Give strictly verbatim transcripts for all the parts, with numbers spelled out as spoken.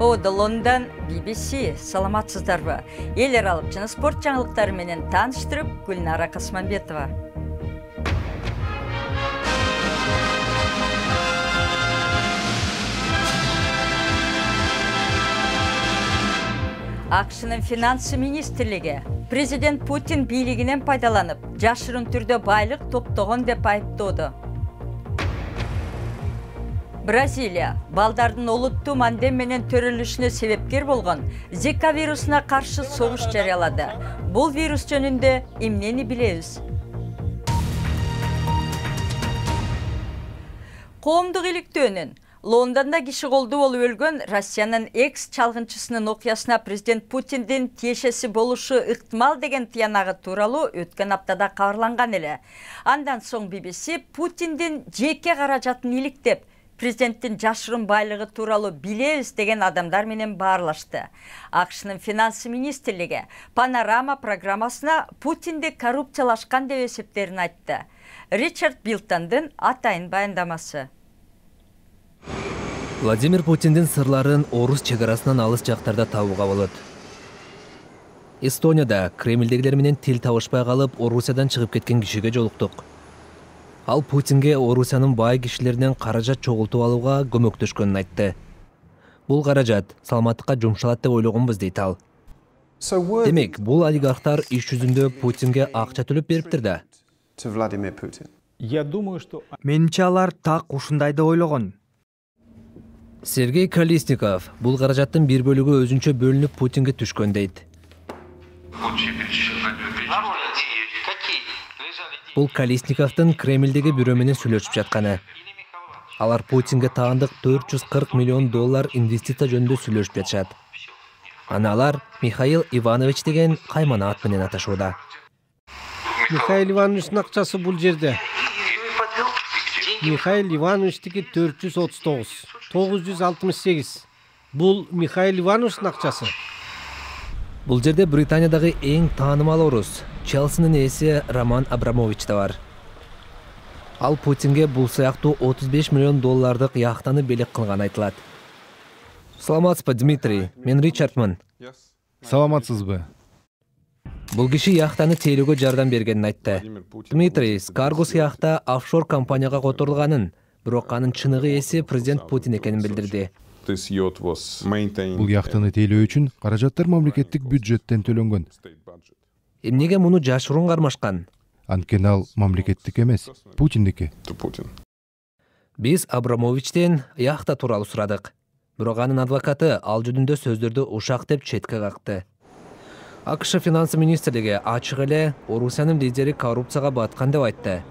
Ода Лондон, би би си, саламатсыздарбы? Эл аралык жана спорт жаңылыктары менен тааныштырып, Гүлнара Касманбетова. АКШнын финансы министрлиги президент Путин бийлигинен пайдаланып, жашырын түрдө байлык топтогон деп айыптоодо. Бразилия балдардын олуттуу мандем менен төрөлүшүнө себепкер болгон Зика вирусуна каршы согуш жарыялады. Бул вирус жөнүндө эмнени билебиз? Коомдук иликтөөнүн Лондонда киши колдуу болуп өлгөн Россиянын экс чалгынчысынын окуясына президент Путиндин тиешеси болушу ыктымал деген тыянагы тууралуу өткөн аптада кабарланган эле. Андан соң би би си Путиндин жеке каражатын иликтеп, президенттин жашырын байлыгы тууралуу билебиз деген адамдар менен баарлашты. АКШнын финансы министрлиги Панорама программасына Путинди коррупциялашкан деп эсептерин айтты. Ричард Билтондун атайын баяндамасы. Владимир Путиндин сырларын орус чегарасынан алыс жактарда табууга болот. Эстонияда Кремлдегилер менен тил табышпай калып, Орусиядан чыгып кеткен кишиге жолуктук. Ал Путинге Орусиянын бай кишилеринен каражат чогултуп алууга көмөктөшкөнүн айтты. Бул каражат саламаттыкка жумшалат деп ойлогонбуз, дейт ал. Демек, бул олигархтар иш жүзүндө Путинге акча төлөп бериптир да. Менимче алар так ушундай деп ойлогон. Сергей Колесников бул каражаттын бир бөлүгү өзүнчө бөлүнүп Путинге түшкөн дейт. Бул Колесниковдун Кремлдеги бирөө менен сүйлөшүп жатканы. Алар Путинге таандык төрт жүз кырк миллион доллар инвестиция жөнүндө сүйлөшүп жатышат. Аны алар Михаил Иванович деген каймана ат менен аташууда. Михаил Ивановичтин акчасы бул жерде. Михаил Ивановичтики төрт жүз отуз тогуз, тогуз жүз алтымыш сегиз. Бул Михаил Ивановичтин акчасы. Бул жерде Британиядагы эң таанымал орус Челсинин ээси Роман Абрамович да бар. Ал Путинге бул сыяктуу отуз беш миллион доллардык яхтаны белек кылган айтылат. Саламатсызбы, Дмитрий? Мен Ричардмын. Саламатсызбы? Бул киши яхтаны тейлөөгө жардам бергенин айтты. Дмитрий, Скаргус яхта офшор компанияга которулганын, бирок анын чыныгы ээси президент Путин экенин билдирди. Бул яхтаны тейлөө үчүн каражаттар мамлекеттик бюджеттен төлөнгөн. Эмнеге муну жашыруун кармашкан? Анткени ал мамлекеттик эмес, Путиндики. Биз Абрамовичтен яхта тууралуу сурадык. Бирок анын адвокаты ал жөнүндө сөздөрдү ушак деп четке какты. АКШ финансы министрлиги ачык эле Орусиянын лидери коррупцияга баткан деп айтты.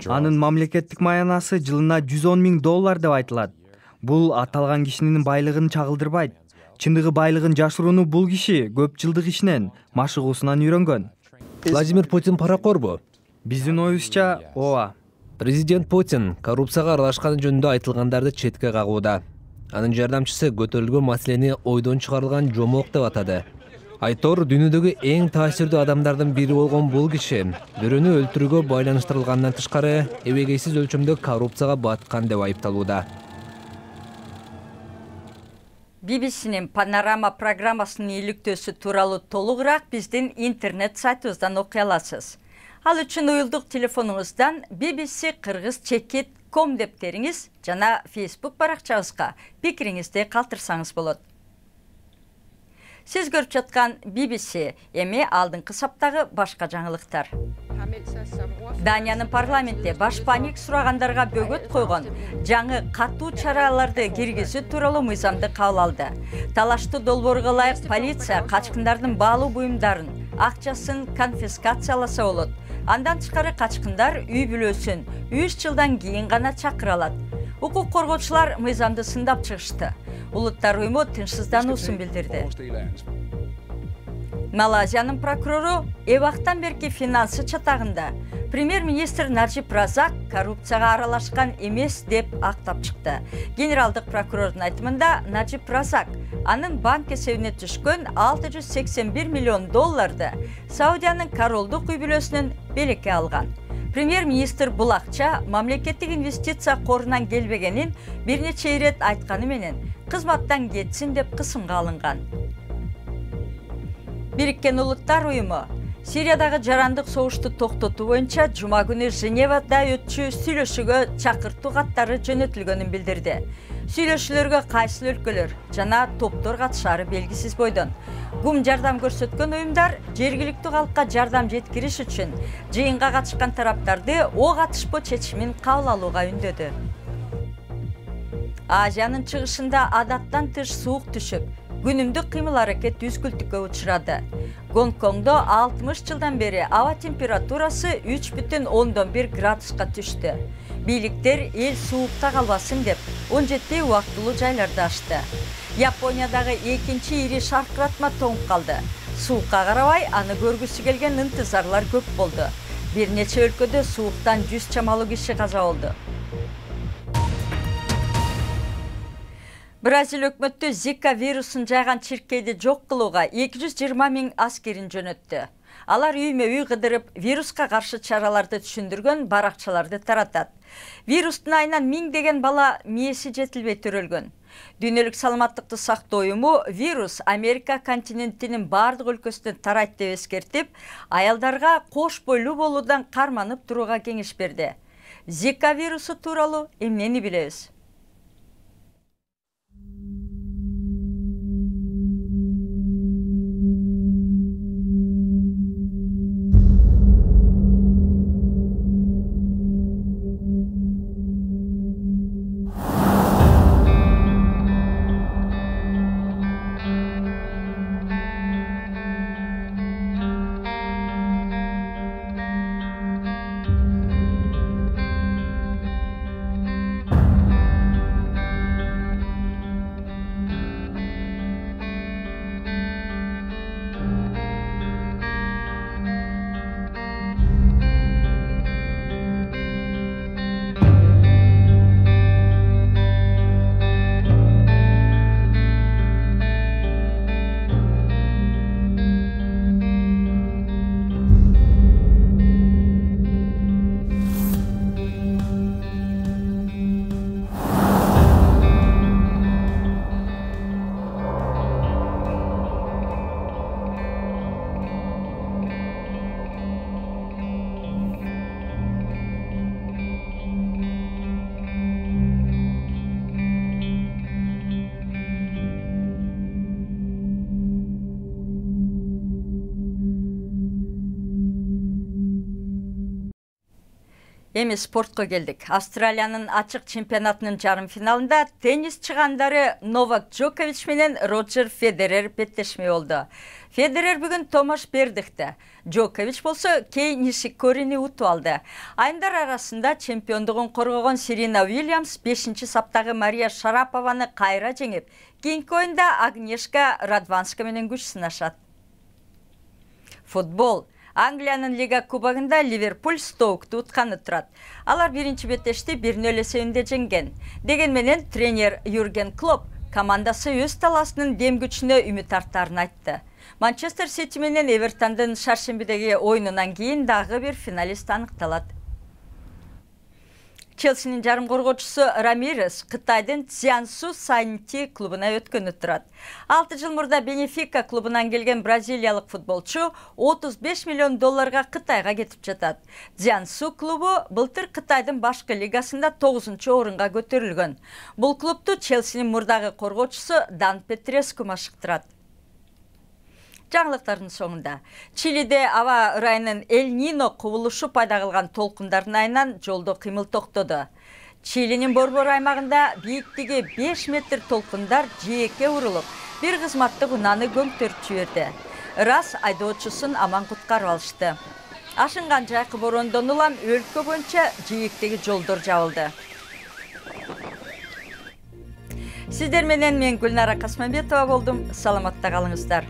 Анын мамлекеттик маянасы жылына жүз он миң доллар деп айтылат. Бул аталган кишинин байлыгын чагылдырбайт. Чындыгы байлыгын жашырууну бул киши көп жылдык ишинен, машыгуусунан үйрөнгөн. Владимир Путин паракорбу? Биздин оюбузча, ооба. Президент Путин коррупцияга аралашканы жөнүндө айтылгандарды четке кагууда. Анын жардамчысы көтөрүлгөн маселени ойдон чыгарылган жомок деп атады. Айтор дүйнөдөгү эң таасирдүү адамдардын бири болгон бул киши бирөөнү өлтүрүүгө байланыштырылгандан тышкары эбегейсиз өлчөмдө коррупцияга баткан деп айыпталууда. би би синин Панорама программасынын иликтөөсү тууралуу толугураак биздин интернет сайтыбыздан окуй аласыз. Ал үчүн уюлдук телефонуңуздан би би си кыргыз чекит точка ком деп териңиз жана Facebook баракчабызга пикириңизди калтырсаңыз болот. Сиз көрүп жаткан би би си эми алдыңкы саптагы башка жаңылыктар. Даниянын парламентте башпаник сурагандарга бөгөт койгон жаңы катуу чараларды киргизүү тууралуу мыйзамды кабыл алды. Талаштуу долбоорго ылайык полиция качкындардын баалуу буюмдарын, акчасын конфискацияласа болот. Андан тышкары качкындар үй бүлөсүн үч жылдан кийин гана чакыра алат. Укук коргоочулар мыйзамды сындап чыгышты. Улуттар уюму тынчсыздануусун билдирди. Малайзиянын прокурору эбактан берки финансы чатагында премьер-министр Наджиб Разак коррупцияга аралашкан эмес деп актап чыкты. Генералдык прокурордун айтымында Наджиб Разак анын банк эсебине түшкөн алты жүз сексен бир миллион долларды Саудиянын королдук үй бүлөсүнөн белекке алган. Премьер-министр бул акча мамлекеттик инвестиция корунан келбегенин бир нече ирет айтканы менен кызматтан кетсин деп кысымга алынган. Бириккен Улуттар уюму Сириядагы жарандык согушту токтотуу боюнча жума күнү Женевада өтчү сүйлөшүүгө чакыртуу каттары жөнөтүлгөнүн билдирди. Сүйлөшүүлөргө кайсы өлкөлөр жана топтор катышары белгисиз бойдон. Гум жардам көрсөткөн уюмдар жергиликтүү калкка жардам жеткириш үчүн жыйынга катышкан тараптарды ок атышпоо чечимин кабыл алууга үндөдү. Азиянын чыгышында адаттан тыш суук түшүп, күнүмдүк кыймыл аракет үзгүлтүккө учурады. Гонконгдо алтымыш жылдан бери аба температурасы үч бүтүн ондон бир градуска түштү. Бийликтер эл суукта калбасын деп он жети убактылуу жайларды ачты. Япониядагы экинчи ири шаркыратма тоңуп калды. Суукка карабай аны көргүсү келген ынтызарлар көп болду. Бир нече өлкөдө сууктан жүз чамалуу киши каза болду. Бразил өкмөтү Зика вирусун жайган чиркейди жок кылууга эки жүз жыйырма миң аскерин жөнөттү. Алар үймө-үй кыдырып, вируска каршы чараларды түшүндүргөн баракчаларды таратат. Вирустун айынан миңдеген бала мээси жетилбей төрөлгөн. Дүйнөлүк саламаттыкты сактоо уюму вирус Америка континентинин бардык өлкөсүнө тарайт деп эскертип, аялдарга кош бойлуу болуудан карманып турууга кеңеш берди. Зика вирусу тууралуу эмнени билебиз? Эми спортко келдик. Австралиянын ачык чемпионатынын жарым финалында теннис чыгандары Новак Джокович менен Роджер Федерер беттешмей болду. Федерер бүгүн Томаш Бердихти, Джокович болсо Кей Нишикорини утуп алды. Айымдар арасында чемпиондугун коргогон Серена Уильямс бешинчи саптагы Мария Шарапованы кайра жеңип, кийинки оюнда Агнешка Радванска менен күч сынашат. Футбол. Англиянын Лига кубогунда Ливерпуль Стоукту утканы турат. Алар биринчи беттешти бир нөл эсебинде жеңген. Деген менен тренер Юрген Клоп командасы өз таласынын дем күчүнө үмүт артарын айтты. Манчестер Сити менен Эвертондун шаршембидеги оюнунан кийин дагы бир финалист аныкталат. Челсинин жарым коргоочусу Рамирес Кытайдын Цзянсу Сайнти клубуна өткөнү турат. алты жыл мурда Бенефика клубунан келген бразилиялык футболчу отуз беш миллион долларга Кытайга кетип жатат. Цзянсу клубу былтыр Кытайдын башкы лигасында тогузунчу орунга көтөрүлгөн. Бул клубту Челсинин мурдагы коргоочусу Дан Петреску машыктырат. Жаңылыктардын соңунда Чилиде аба ырайынын Эль-Нино кубулушу пайда кылган толкундардын айынан жолдо кыймыл токтоду. Чилинин борбор аймагында бийиктиги беш метр толкундар жээкке урулуп, бир кызматтык унааны көмтөрүп жиберди. Ырас айдоочусун аман куткарып алышты. Ашынган жайкы бороондон улам өлкө боюнча жээктеги жолдор жабылды. Сиздер менен мен Гүлнара Касманбетова болдум. Саламатта калыңыздар.